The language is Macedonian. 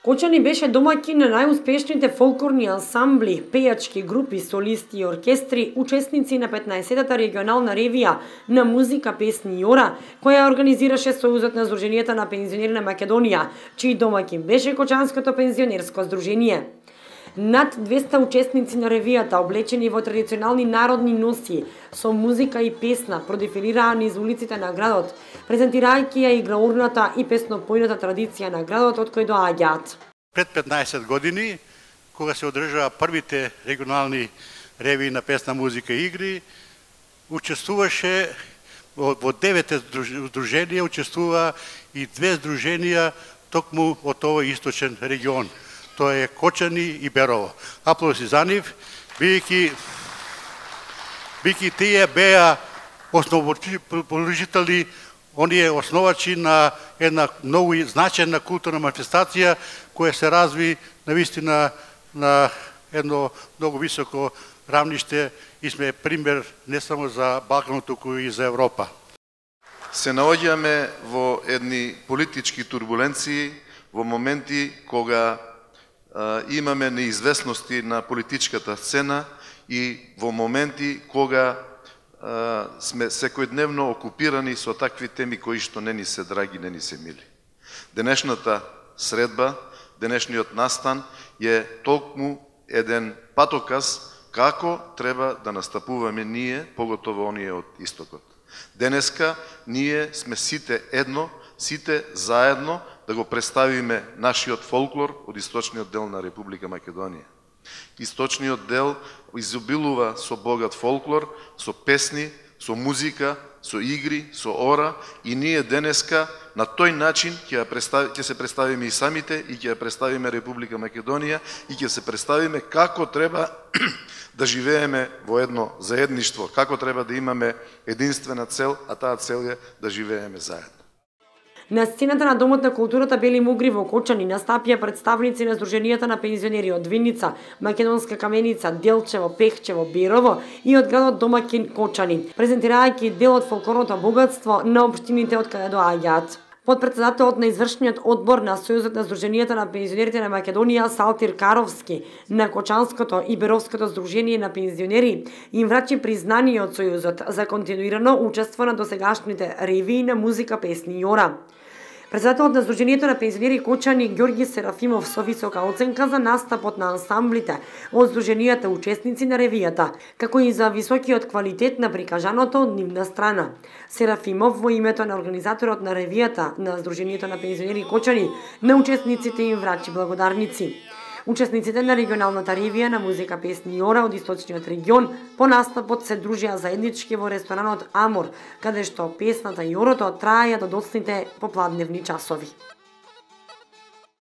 Кочани беше домаќин на најуспешните фолклорни ансамбли, пејачки групи, солисти и оркестри, учесници на 15-та регионална ревија на музика, песни и ора, која организираше Сојузот на Сдруженијата на пензионери на Македонија, чиј домаќин беше Кочанското пензионерско здружение. Над 200 учесници на ревијата, облечени во традиционални народни носи, со музика и песна, продефилираа низ улиците на градот, презентирајќи ја играурната и песнопојната традиција на градот од кој доаѓаат. Пред 15 години, кога се одржаа првите регионални ревии на песна, музика и игри, учествуваше во 9 здруженија, учествува и 2 здруженија токму од овој источен регион. Тоа е Кочани и Берово. Аплодиси за нив, бидејќи тие беа основоположители, оние основачи на една многу значајна културна манифестација која се разви навистина на едно многу високо равниште и сме пример не само за Балканот, туку и за Европа. Се наоѓаме во едни политички турбуленции, во моменти кога имаме неизвестности на политичката сцена и во моменти кога сме секојдневно окупирани со такви теми кои што не ни се драги, не ни се мили. Денешната средба, денешниот настан е толкму еден патоказ како треба да настапуваме ние, поготово оние од истокот. Денеска ние сме сите едно, сите заедно да го представиме нашиот фолклор од источниот дел на Република Македонија. Источниот дел изобилува со богат фолклор, со песни, со музика, со игри, со ора и ние денеска на тој начин ќе се представиме и самите и ќе представиме Република Македонија и ќе се представиме како треба да живееме во едно заедништво, како треба да имаме единствена цел, а таа цел е да живееме заедно. На сцената на Домот на културата Бели Мугри во Кочани настапија представници на Сдруженијата на пензионери од Виница, Македонска Каменица, Делчево, Пехчево, Берово и од градот домаќин Кочани, презентирајќи дел од фолклорното богатство на општините од каде доаѓаат. Подпредседателот на извршниот одбор на Сојузот на Сдруженијата на пензионерите на Македонија Салтир Каровски на Кочанското и Беровското здружение на пензионери им врачи признание од Сојузот за континуирано учество на досегашните ревии на музика, песни и ора. Председателот на Сдруженијето на пензионери Кочани Ѓорги Серафимов со висока оценка за настапот на ансамблите од Сдруженијата учесници на ревијата, како и за високиот квалитет на прикажаното од нивна страна. Серафимов во името на организаторот на ревијата на Сдруженијето на пензионери Кочани на учесниците им врачи благодарници. Учесниците на регионалната ревија на музика, песни и ора од источниот регион по настапот се дружија заеднички во ресторанот Амор, каде што песната и орото траја до доцните попладневни часови.